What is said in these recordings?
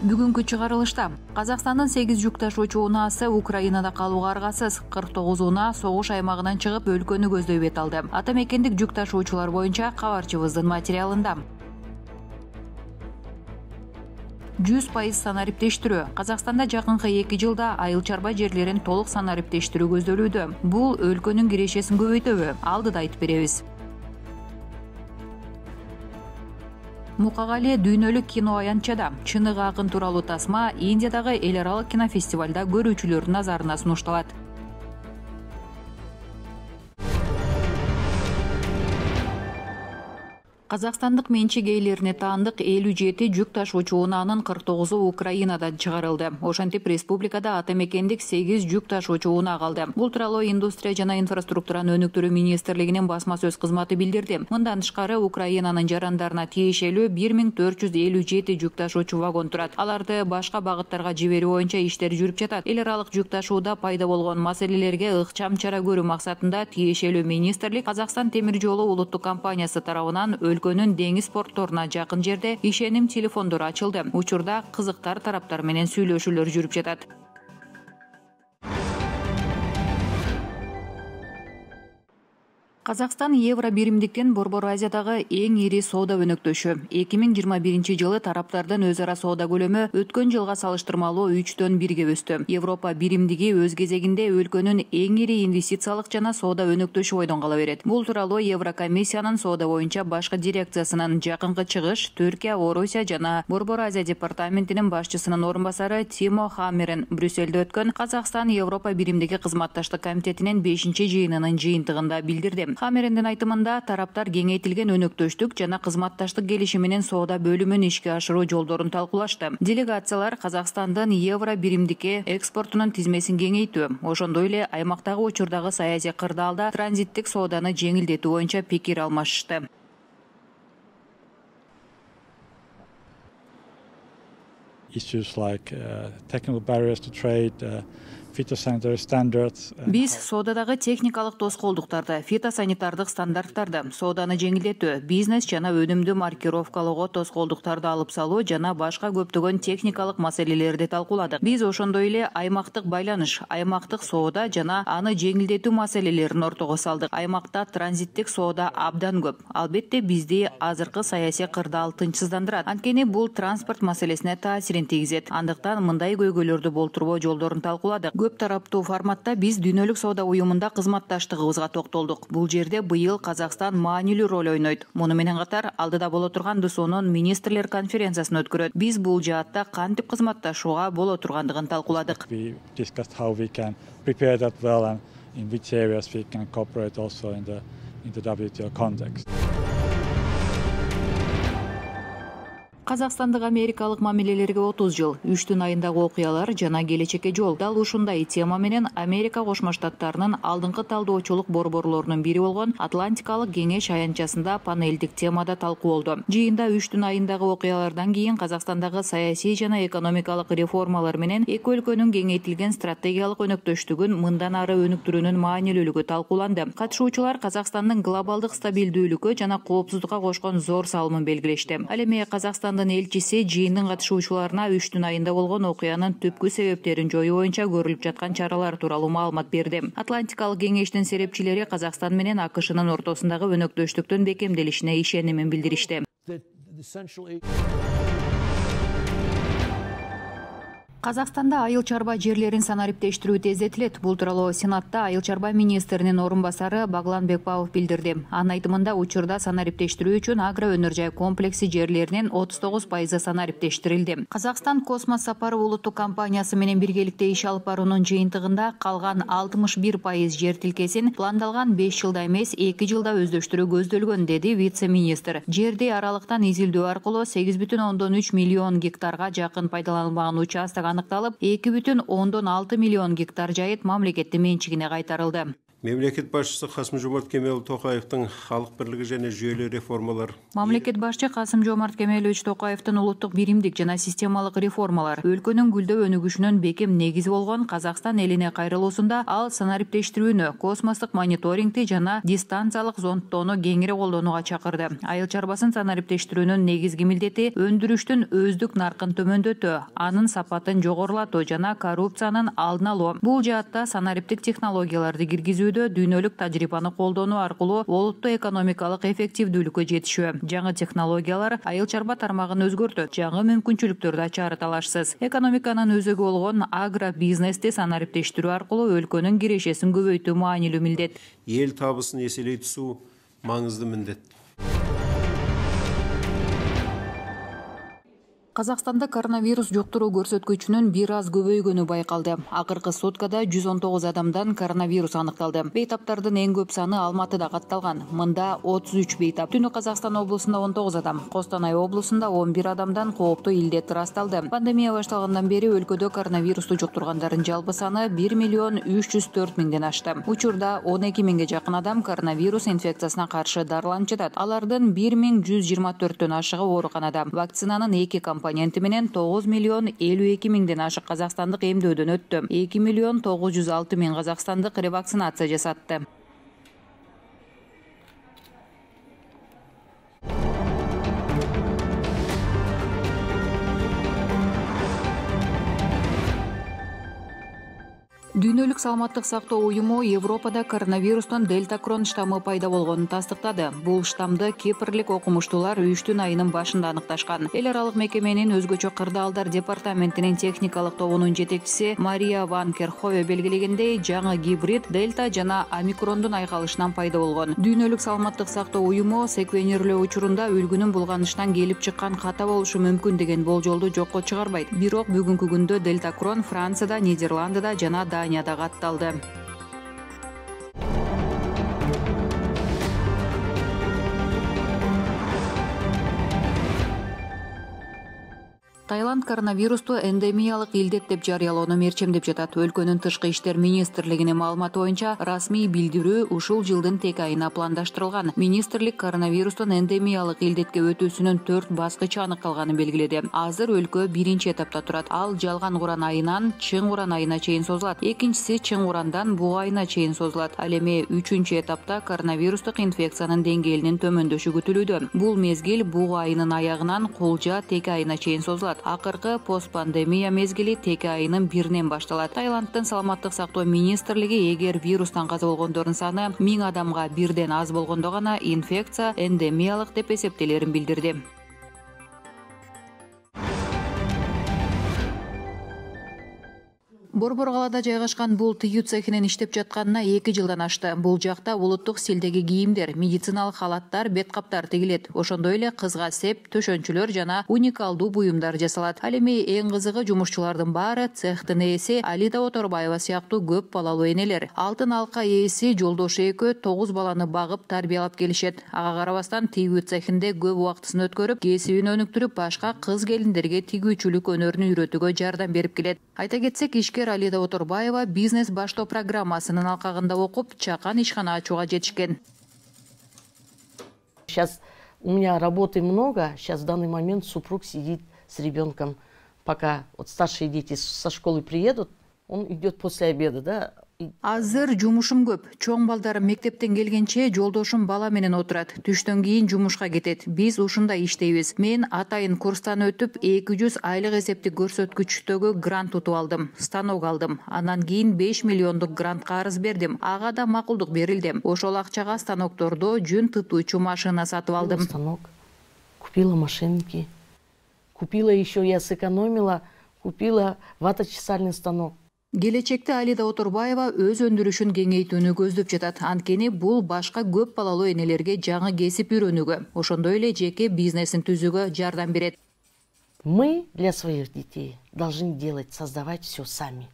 Бүгүнкү чыгарылышта Казакстандын 8 жүк ташуучу унаасы Украинада калууга аргасыз. 49 унаа согуш аймагынан чыгып өлкөнү көздөй бет алды. Ата мекендик жүк ташуучулар боюнча кабарчыбыздын материалында. 100% санариптештирүү. Казакстанда жакынкы 2 жылда айыл чарба жерлерин толук санариптештирүү көздөлүүдө. Бул өлкөнүн кирешесин көбөйтөбү? Алдыда айтып беребиз. Мукагали дүйнөлүк кино аянтчада чыныгы акын тууралуу тасма Индиядагы эл аралык кинофестивалда көрүүчүлөрдүн назарына сунушталат. Казакстандык менчик ээлерине таандык 57 жүк ташуучу унаанын 49у Украинадан чыгарылды. Ошентип республикада ата мекендик 8 жүк ташуучу унаа калды. Бул тууралуу Индустрия жана инфраструктураны өнүктүрүү министрлигинин басма сөз кызматы билдирди. Мындан тышкары Украинанын жарандарына тиешелүү 1457 жүк ташуучу вагон турат. Аларды башка багыттарга жиберүү боюнча иштер жүрүп жатат. Эл аралык жүк ташууда пайда болгон маселелерге ыкчам чара көрүү максатында тиешелүү министрлик Казакстан темир жолу улуттук компаниясы тарабынан өлкөнүн деңиз портторуна жакын жерде ишеним телефондору ачылды. Учурда кызыктар тараптар менен сүйлөшүүлөр жүрүп жатат. Казакстан Евро биримдиктен Борбор Азиядагы эң ири соода өнөктөшү. 2021 жылы тараптардын өз ара соода көлөмү өткөн жылга салыштырмалуу 3,1 өстү. Европа биримдиги өз кезегинде өлкөнүн эң ири инвестициялык жана соода өнөктөшү бойдон кала берет. Бул тууралуу Еврокомиссиянын соода боюнча башкы дирекциясынын жакынкы чыгыш Түркия, Орусия жана Борбор Азия департаментинин башчысынын орун басары Тимо Хаммерен Брюссельде өткөн Казакстан Европа биримдиги кызматташтык комитетинин 5-жыйынынын жыйынтыгында билдирди. Хамерендин айтымында тараптар кеңейтилген өнөктөштүк жана кызматташтык келишиминин соода бөлүмүн ишке ашыруу жолдорун талкуулашты. Делегациялар Казакстандын евро биримдикке экспортунун тизмесин кеңейтүү, ошондой эле аймактагы учурдагы саясий кырдаалда транзиттик сооданы жеңилдетүү боюнча пикир алмашышты. Issues like technical barriers to trade, phytosanitary standards. Биз соодадагы техникалык тоскоолдуктарды, фитосанитардык стандарттарды, сооданы жеңилдетүү, бизнес жана өнүмдү маркировкалоого тоскоолдуктарды алып салуу жана башка көптөгөн техникалык маселелерди талкууладык. Биз ошондой эле аймактык байланыш, аймактык соода жана аны жеңилдетүү маселелерин ортого салдык. Аймакта транзиттик соода абдан көп. Албетте бизди азыркы саясий кырдаал тынчсыздандырат. Анткени бул транспорт маселесине таасирин тийгизет. Андыктан мындай көйгөйлөрдү болтурбоо жолдорун талкууладык. Көп тараптуу форматта биз дүйнөлүк соода уюмунда кызматташтыгыбызга токтолдук. Бул жерде быйыл Казакстан маанилүү роль ойнойт. Муну менен катар алдыда боло турган ДСОнун министрлер конференциясын өткөрөт. Биз бул жаатта кантип кызматташууга боло тургандыгын талкууладык. We discussed how we can prepare that well and in which areas we can cooperate also in the WTO context. Казакстандык америкалык мамилелерге 30 жыл, 3 айындагы окуялар жана келечекке жол. Дал ушундай тема менен Америка Кошмо Штаттарынын алдыңкы талдоочулук борборлорунун бири болгон Атлантикалык кеңеш аянтчасында панелдик темада талкуу болду. Жыйында 3 айындагы окуялардан кийин Казакстандагы саясий жана экономикалык реформалар менен эки өлкөнүн кеңейтилген стратегиялык өнөктөштүгүн мындан ары өнүктүрүүнүн маанилүүлүгү талкууланды. Катышуучулар Казакстандын глобалдык стабилдүүлүккө жана коопсуздукка кошкон зор салымын белгилешти. Ал эми Казакстандын элчиси жыйындын катышуучуларына 3 айында болгон окуянын түпкү себептерин жоюу боюнча көрүлүп жаткан чаралар тууралуу маалымат берди. Атлантикалык кеңештин серепчилери Казакстан менен АКШнын ортосундагы өнөктөштүктүн бекемделишине ишенимин билдиришти. Казакстанда айыл чарба жерлерин санариптештирүү тездетилет. Бул тууралуу Сенатта айыл чарба министринин орун басары Баглан Бекбаев билдирди. Анын айтымында учурда санариптештирүү үчүн агро өнөр жай комплекси жерлеринин 39% санариптештирилди. Казакстан Космос сапары улуттук компаниясы менен биргеликте иш алып баруунун жыйынтыгында калган 61% жер тилкесин пландалган 5 жылда эмес 2 жылда өздөштүрүү көздөлгөн, деди вице-министр. Жерди аралыктан изилдөө аркылуу 8,3 миллион гектарга жакын пайдаланылбаган участок аныкталып, 2,6 миллион гектар жайыт мамлекеттин менчигине кайтарылды. Мемлекет башчысы Касым-Жомарт Кемелов-Токаевдин халык бирлиги жана жүйөлүү реформалар. Мамлекет башчы Касым-Жомарт Кемелович Токаевдин улуттук биримдик жана системалык реформалар өлкөнүн гүлдөө өнүгүшүнүн бекем негизи болгон Казакстан элине кайрылуусунда ал санариптештирүүнү, космостук мониторингти жана дистанциялык зондтоону кеңири колдонууга чакырды. Айыл чарбасын санариптештирүүнүн негизги милдети өндүрүштүн өздүк наркын төмөндөтүү, анын сапатын жогорулатуу жана коррупциянын алдын алуу. Бул жаатта санариптик технологияларды киргизүүдө дүйнөлүк тажрыйбаны колдонуу аркылуу олуттуу экономикалык эффективдүүлүккө жетишүү. Жаңы технологиялар айыл чарба тармагын өзгөртөт, жаңы мүмкүнчүлүктөрдү ачары талашсыз. Экономиканын өзөгү болгон агро бизнести санариптештирүү аркылуу өлкөнүн кирешесин көбөйтүү маанилүү милдет. Эл табысын эселей түсүү маңызды милдет. Казакстанда коронавирус жуктуруу көрсөткүчүнүн бир аз көбөйгөнү байкалды. Акыркы суткада 119 адамдан коронавирус аныкталды. Бейтаптардын эң көп саны Алматыда катталган. Мында 33 бейтап. Түнү Казакстан облусунда 19 адам, Костанай облусунда 11 адамдан кооптуу илдет ырасталды. Пандемия башталгандан бери өлкөдө коронавирусту жуктургандардын жалпы саны 1.304.000ден ашты. Учурда 12 миңге жакын адам коронавирус инфекциясына каршы дарыланып жатат. Алардын 1124төн ашыгы ооруканада. Вакцинанын 2 компоненти менен 9.052.000ден ашык казакстандык эмдөөдөн өттү. 2.906.000 казакстандык ревакцинация жасатты. Дүйнөлүк саламаттык сактоо уюму Европада коронавирустун дельта крон штаммы пайда болгонун тастыктады. Бул штаммды кипрлик окумуштуулар июштун айынын башында аныкташкан. Эл аралык мекеменин өзгөчө кырдаалдар департаментинин техникалык тобунун жетекчиси Мария ван Керхове белгилегендей, жаңы гибрид дельта жана омикрондун айкалышынан пайда болгон. Дүйнөлүк саламаттык сактоо уюму секвенерлөө учурунда үлгүнүн булганышынан келип чыккан ката болушу мүмкүн деген болжолду жокко чыгарбайт. Бирок бүгүнкү күндө дельта крон Францияда, Нидерландыда жана Данияда катталды. Таиланд коронавирусту эндемиялык илдет деп жарыялоону мерчемдеп жатат. Өлкөнүн тышкы иштер министрлигинин маалыматы боюнча расмий билдирүү ушул жылдын тек айына пландаштырылган. Министрлик коронавирустун эндемиялык илдетке өтүүсүнүн 4 баскычы аныкталганын белгиледи. Азыр өлкө биринчи этапта турат. Ал Жалган Куран айынан Чың Куран айына чейин созулат. Экинчиси Чың Курандан Буга айына чейин созулат. Ал эми 3-чү этапта коронавирустук инфекциянын деңгээлинин төмөндөшү күтүлүүдө. Бул мезгил Буга айынын аягынан Кулжа Теке айына чейин созулат. Акыркы постпандемия мезгили Теке айынын 1-нен башталат. Таиланддын саламаттык сактоо министрлиги эгер вирустан каза болгондордун саны 1000 адамга бирден аз болгондо гана инфекция эндемиялык деп эсептелерин билдирди. Борбор калаада жайгашкан бул тыюу цехинин иштеп жатканына 2 жылдан ашты. Бул жакта улуттук стилдеги кийимдер, медициналык халаттар, бет каптар тигилет. Ошондой эле кызга сеп, төшөнчүлөр жана уникалдуу буюмдар жасалат. Ал эми эң кызыгы жумушчулардын баары цехтин ээси Алида Оторбаева сыяктуу көп балалуу энелер. Алтын алка ээси Жолдошу экөө 9 баланы багып тарбиялап келишет. Ага карабастан тигүү цехинде көп убактысын өткөрүп, кесибин өнүктүрүп, башка кыз келиндерге тигүүчүлүк өнөрүн үйрөтүүгө жардам берип келет. Айта кетсек, ишкер Алида Оторбаева бизнес баштоо программасынын алкагында окуп, чакан ишкана ачууга жетишкен. Сейчас у меня работы много, сейчас в данный момент супруг сидит с ребенком, пока вот старшие дети со школы приедут, он идет после обеда, да. Азыр жумушум көп. Чоң балдарым мектептен келгенче жолдошум бала менен отурат. Түштөн кийин жумушка кетет. Биз ушундай иштейбиз. Мен атайын курстан өтүп 200 айлык эсептик көрсөткүчтөгү грант утуп алдым. Станок алдым. Андан кийин 5 миллиондук грантка арыз бердим. Ага да макулдук берилди. Ошол акчага станоктордо жүн тытуучу машина сатып алдым. Станок. Купила машинки. Купила еще, я сэкономила, купила ваточесальный станок. Келечекте Алида Оторбаева өз өндүрүшүн кеңейтүүнү көздөп жатат. Анткени бул башка көп балалуу энелерге жаңы кесип үйрөнүүгө, ошондой эле жеке бизнесин түзүүгө жардам берет. Мы для своих детей должны делать, создавать все сами.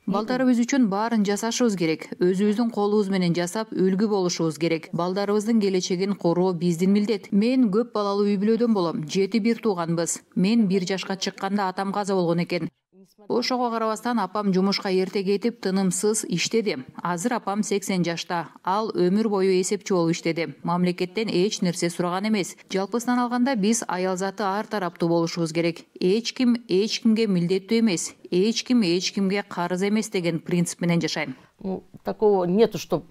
Балдарыбыз үчүн баарын жасашыбыз керек. Өзүбүздүн колубуз менен жасап, үлгү болушубуз керек. Балдарыбыздын келечегин короо биздин милдет. Мен көп балалуу үй бүлөдөн болом. 7 бир тууганбыз. Мен 1 жашка чыкканда атам каза болгон экен. Ошого карабастан апам жумушка эрте кетип, тынымсыз иштеди. Азыр апам 80 жашта. Ал өмүр бою эсепчи болуп иштеди. Мамлекеттен эч нерсе сураган эмес. Жалпысынан алганда биз аял заты ар тараптуу болушубуз керек. Эч кимге милдеттүү эмес. Эч кимге карыз эмес деген принцип менен жашайм. Такого нету, что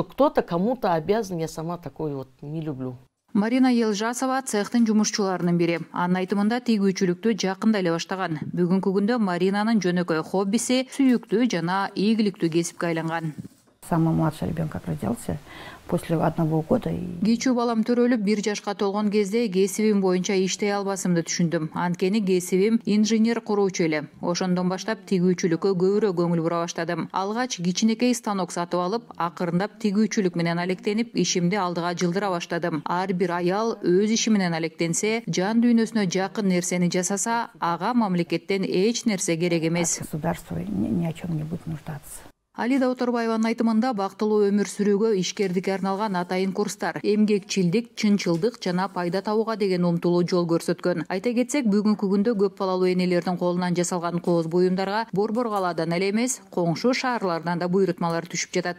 кто-то кому-то обязан, я сама такой вот не люблю. Марина Елжасова цехтын жумушчуларынын бири. Анын айтымында тийгүүчүлүктү жакында эле баштаган. Бүгүнкү күндө Маринанын жөнөкөй хоббиси сүйүктүү жана ийгиликтүү кесипке айланган. Самый младший ребенок как родился после 1 года. Кичүү балам төрөлүп 1 жашка толгон кезде кесибим боюнча иштей албасымды түшүндүм. Анткени кесибим инженер куруучу эле. Ошондон баштап тигүүчүлүккө көбүрөөк көңүл бура баштадым. Алгач кичинекей станок сатып алып, акырындап тигүүчүлүк менен алектенип, ишимди алдыга жылдыра баштадым. Ар бир аял өз иши менен алектенсе, жан дүйнөсүнө жакын нерсени жасаса, ага мамлекеттен эч нерсе керек эмес. Государство ни о чем не будет нуждаться. Алида Оторбаеванын айтымында бактылуу өмүр сүрүүгө ишкердикке арналган атайын курстар, эмгекчилдик, чынчылдык жана пайда табууга деген умтулуу жол көрсөткөн. Айта кетсек, бүгүнкү күндө көп балалуу энелердин колунан жасалган кооз буюмдарга Борбор калаадан эле эмес, коңшу шаарлардан да буйрутмалар түшүп жатат.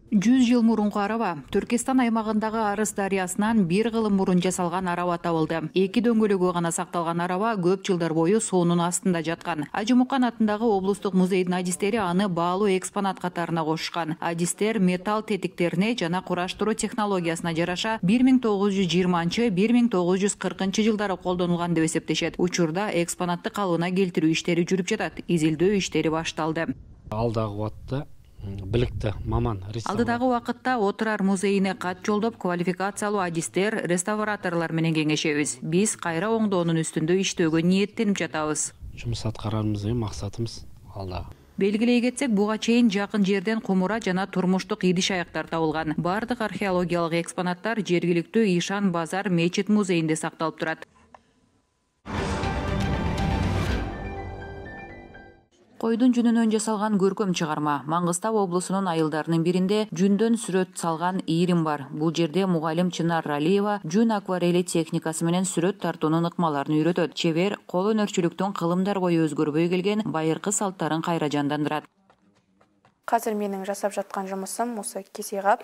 100 жыл мурунку араба. Түркистан аймагындагы Арыс дарыясынан 1 кылым мурун жасалган араба табылды. 2 дөңгөлөгү гана сакталган араба көп жылдар бою суунун астында жаткан. Ажымукан атындагы облустук музейдин адистери аны баалуу экспонат катарына кошушкан. Адистер металл тетиктерине жана кураштыруу технологиясына жараша 1920-1940 жылдары колдонулган деп эсептешет. Учурда экспонатты калыбына келтирүү иштери жүрүп жатат. Изилдөө иштери башталды. Алдагы убакытта биликти маман алдыдагы убакытта Отурар музейине кат жолдоп, квалификациялуу адистер, реставраторлор менен кеңешебиз. Биз кайра оңдоонун үстүндө иштөөгө ниеттенип жатабыз. Жумуш аткарарыбыз деген максатыбыз алдагы. Белгилей кетсек, буга чейин жакын жерден кумура жана турмуштук идиш аяктар табылган. Бардык археологиялык экспонаттар жергиликтүү Ишан Базар мечит музейинде сакталып турат. Койдун жүнүнөн жасалган көркөм чыгарма. Маңгыстау облусунун айылдарынын биринде жүндөн сүрөт салган ийрим бар. Бул жерде мугалим Чынар Ралиева жүн акварели техникасы менен сүрөт тартуунун ыкмаларын үйрөтөт. Чебер кол өнөрчүлүктүн кылымдар бою өзгөрбөй келген байыркы салттарын кайра жандандырат. Казыр менин жасап жаткан жумусум осы кесекап.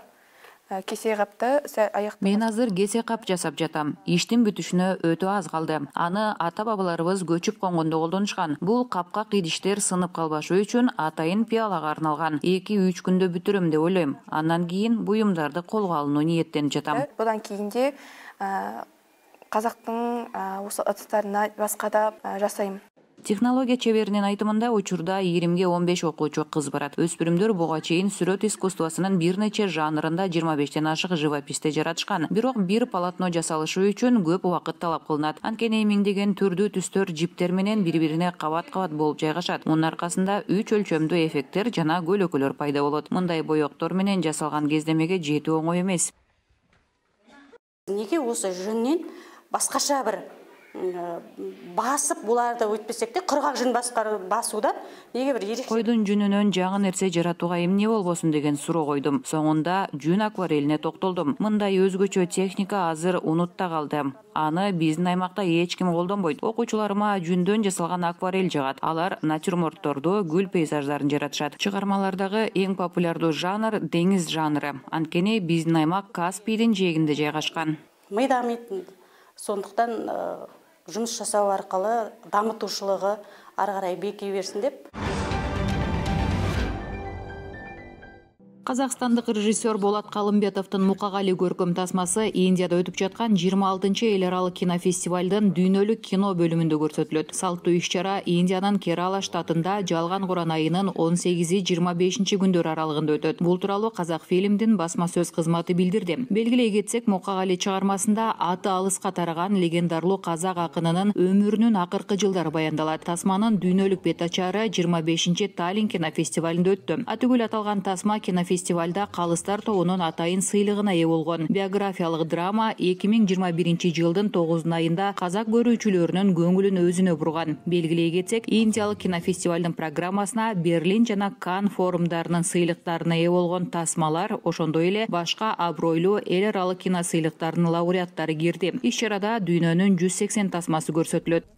Кесекапты аяктап. Мен азыр кесекап жасап жатам. Иштин бүтүшүнө өтө аз калды. Аны ата-бабаларыбыз көчүп конгондо колдонушкан. Бул капкак идиштер сынып калбашы үчүн атайын пиалага арналган. 2-3 күндө бүтүрөм деп ойлойм. Андан кийин буюмдарды колго алууну ниеттенип жатам. Будан кийинде казактын осы ыдыстарына башка да жасайм. Технология чеберинин айтымында учурда ийримге 15 окуучу кыз барат. Өспүрүмдөр буга чейин сүрөт искусствосунун бир нече жанрында 25тен ашык живописте жаратышкан. Бирок бир полотно жасалышы үчүн көп убакыт талап кылынат. Анткени миңдеген түрдүү түстөр жиптер менен бири-бирине кабат-кабат болуп жайгашат. Мунун аркасында 3 өлчөмдүү эффекттер жана көлөкөлөр пайда болот. Мындай боектор менен жасалган кездемеге жетүү оңой эмес. Неге осы жүннен башкача бир басып буларды өтпесек де кыргак жүн басууда неге бир ерекше. Койдун жүнүнөн жаңы нерсе жаратууга эмне болбосун деген суроо койдум. Соңунда жүн акварелине токтолдум. Мындай өзгөчө техника азыр унутта калды. Аны биздин аймакта эч ким колдонбойт. Окуучуларыма жүндөн жасалган акварель жагат. Алар натюрмортторду, гүл пейзаждарын жаратышат. Чыгармалардагы эң популярдуу жанр деңиз жанры. Анткени биздин аймак Каспийдин жээгинде жайгашкан. Мый дамыйт. Сондуктан жұмыс жасау арқылы дамытушылығы ары қарай бекей берсин деп. Казакстандык режиссер Болот Калымбетовдун Мукагали көркөм тасмасы Индияда өтүп жаткан 26-эл аралык кинофестивалдын дүйнөлүк кино бөлүмүндө көрсөтүлөт. Салттуу иш-чара Индиянын Керала штатында жалган Куран айынын 18-25 күндөр аралыгында өтөт. Бул тууралуу Казак фильмдин басма сөз кызматы билдирди. Белгилей кетсек, Мукагали чыгармасында аты алыска тараган легендарлуу казак акынынын өмүрүнүн акыркы жылдары баяндалат. Тасманын дүйнөлүк бет ачары 25 Таллин кинофестивалында өттү. Атүгүл аталган тасма кинофестиваль фестивалда Калыстар тобунун атайын сыйлыгына ээ болгон. Биографиялык драма 2021 жылдын 9 айында казак көрүүчүлөрүнүн көңүлүн өзүнө бурган. Белгилей кетсек, Индиялык кинофестивалдын программасына Берлин жана Канн форумдарынын сыйлыктарына ээ болгон тасмалар, ошондой эле башка абройлуу эл аралык кино сыйлыктарынын лауреаттары кирди. Иш чарада дүйнөнүн 180 тасмасы көрсөтүлөт.